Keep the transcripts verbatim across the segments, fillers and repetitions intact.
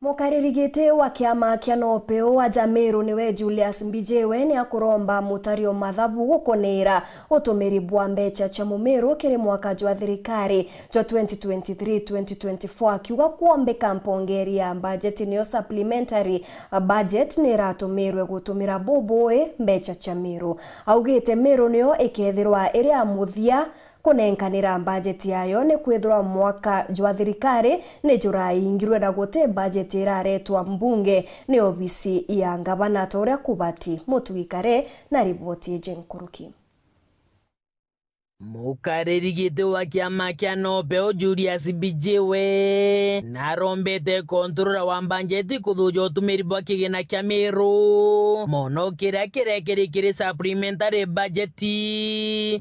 Mukariri giti wa kiama kia Nopeu aja Meru niwe Julius Mbijiwe ni akuromba mutario mathabu gukoneera utumiri bwa mbecha cia Mumiru kiri mwaka jwa thirikari jwa twenty twenty-three twenty twenty-four, akiuga kwombika mpongeri ya bajeti niyo supplementary budget ni iratumirwe gutumira bubui mbecha cia Meru. Augite Meru niyo ikethirwa iri ya muthia kunenkanira bajeti yayo, ni kwithirwa mwaka jwa thirikari ni juraingirwe na guti bajeti iraretwa mbunge ni obisi ya ngavana ta uria kubati. Mutugi Kare na riboti iji nkuruki. Mukariri giti wa kiama kia Nopeu Julius Mbijiwe narombete controller wa bajeti kuthuja utumiri bwa kigina kia Meru, mono kiria kirekiri kiri supplementary budget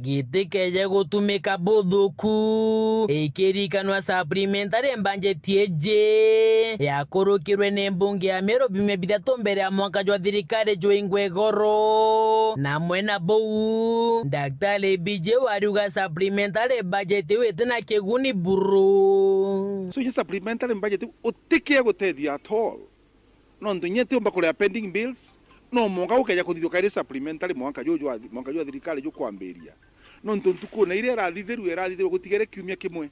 gitikeje gutumika buthuku. Ikirikanwa supplementary budget iji yakurukirwe ni mbunge ya Meru biumia bithatu mbere ya mwaka jwa thirikari jwingwe igoro. Na mwena buu, Daktari Mbijiwe ariuga supplementary budget iu itina kiguni buru. So, inya supplementary budget iu utikia gutethia at all. Nontu inya itiumba kuria pending bills, no mwanka gukeja kuthithua kairi supplementary mwanka juu jwa, mwanka jwa thirikari jukwambiria. Nontu ntukune iria irathithirue, irathithirue gutigere kiumia kimwe.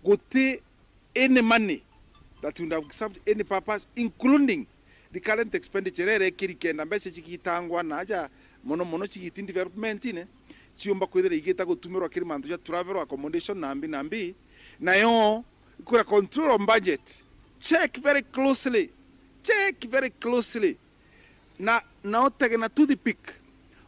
Guti any money that would have served any purpose, including recurrent expenditure iria irekiri kenda mbeca cigitangwa na aja mono mono cigiti development-ine, ciumba kwithira igita gutumirwa kiri mantu ja travel, accommodation, na mbi na mbi. Nayo ikwira control of budget, check very closely, check very closely. Na, na utege na toothpick.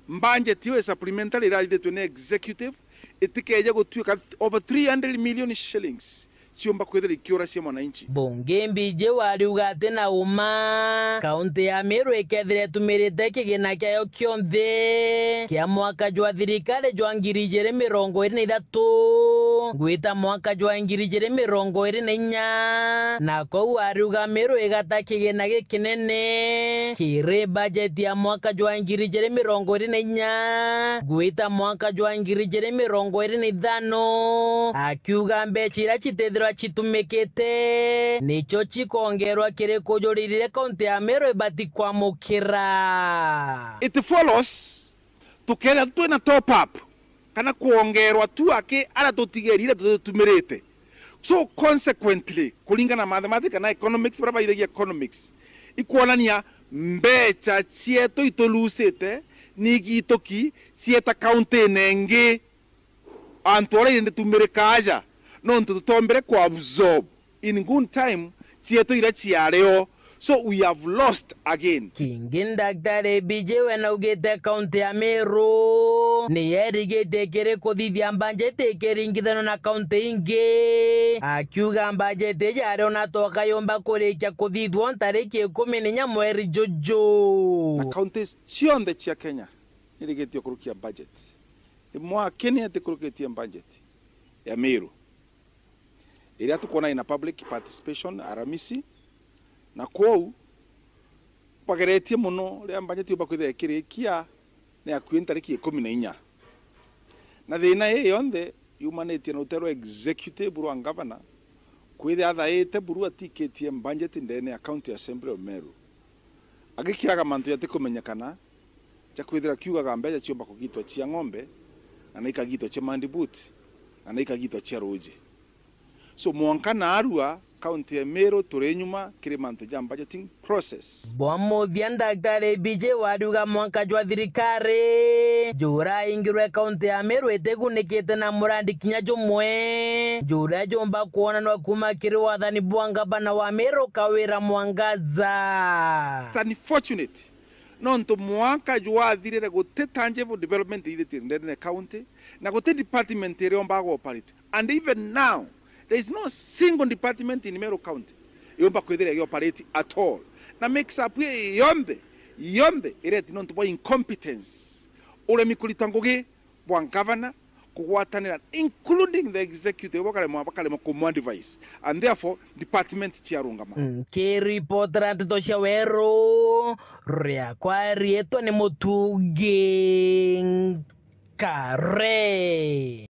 Budget iu ya supplementary irathithitue ni executive itikeje gutuika over three hundred million shillings ciumba kwithira ikiura cia mwananchi. Bunge Mbijiwe ariuga ati na uma, kaunti ya Meru ikethira itumirite kigina kiayo kionthe kia mwaka jwa thirikari jwa ngiri ijiri mirongo iri na ithatu gwita mwaka jwa ngiri ijiri mirongo iri na inya, na kou ariuga Meru igata kigina gikinene kiri bajeti ya mwaka jwa ngiri ijiri mirongo iri na inya gwita mwaka jwa ngiri ijiri mirongo iri na ithano, akiuga mbeca iria citithirwa citumikite nicio cikongerwa kiri kujurira iria kaunti ya Meru ibati kwamukira. It follows tukethira twina top up kana kwongerwa tu aki aria tutigerire tutumirite. So consequently, kuringana na mathematics kana economics, baria baithagia economics, ikwonania mbeca cietu itulusite ni igituki cieta kaunti-ine ingi. Antu aria indi tumirika aja, nontu tutombere ku absorb in good time cietu iria ciario. So we have lost again. Kingi Daktari Mbijiwe naugite kaunti ya Meru ni yerigitie kiri kuthithia mbanjeti ikiringithanwa na kaunti ingi, akiuga mbanjeti iji ari ona toka yumba kurikia kuthithwa ntariki ikumi na inya mweri juju. Na counties cionthe cia Kenya nirigitie kurukia budget. Imwe akini atikurukitie budget ya Meru iria tukwona ina public participation Aramisi, na kwou bageretie mono riria budget yumba kwithira ikirikia ni akui ntariki ikumi na inya. Na thina ii yonthe yumanitie na rutero rwa executive rwa governor kwithira athaite buru atikitie budget ndene ya County Assembly of Meru, agikiraga mantu jatikumenyekana ja kwithira kiugaga mbeca ciumba kugitwa cia ng'ombe, na na ikagitwa cia mandibuti, na na ikagitwa cia ruji. So mwanka naarua, county ya Meru turi nyuma kiri mantu ja budgeting process. Bwa muthia, Daktari Mbijiwe ariuga mwanka jwa thirikari juraingirwe, county ya Meru itigunikite na murandi kinya jumwe juria jumba kwonanwa kuma kiri wathani bwa ngavana wa Meru Kawira Mwangaza. It's unfortunate nontu mwaka jwathirire guti tangible development ithitie ndene county, na guti department iria yombaga operate. And even now, there is no single department in Meru County yomba kwithira igioperate at all. Na mix up ii yonthe, yonthe ireti nontu bwa incompetence, uremi kurita ngugi bwa governor, kugwatanira, including the executive, bakaremwa, bakaremwa kumu advise, and therefore department ciarungama. Nkiripotera nteto cia Weru, riakwa riitwa ni Mutugi Nkare.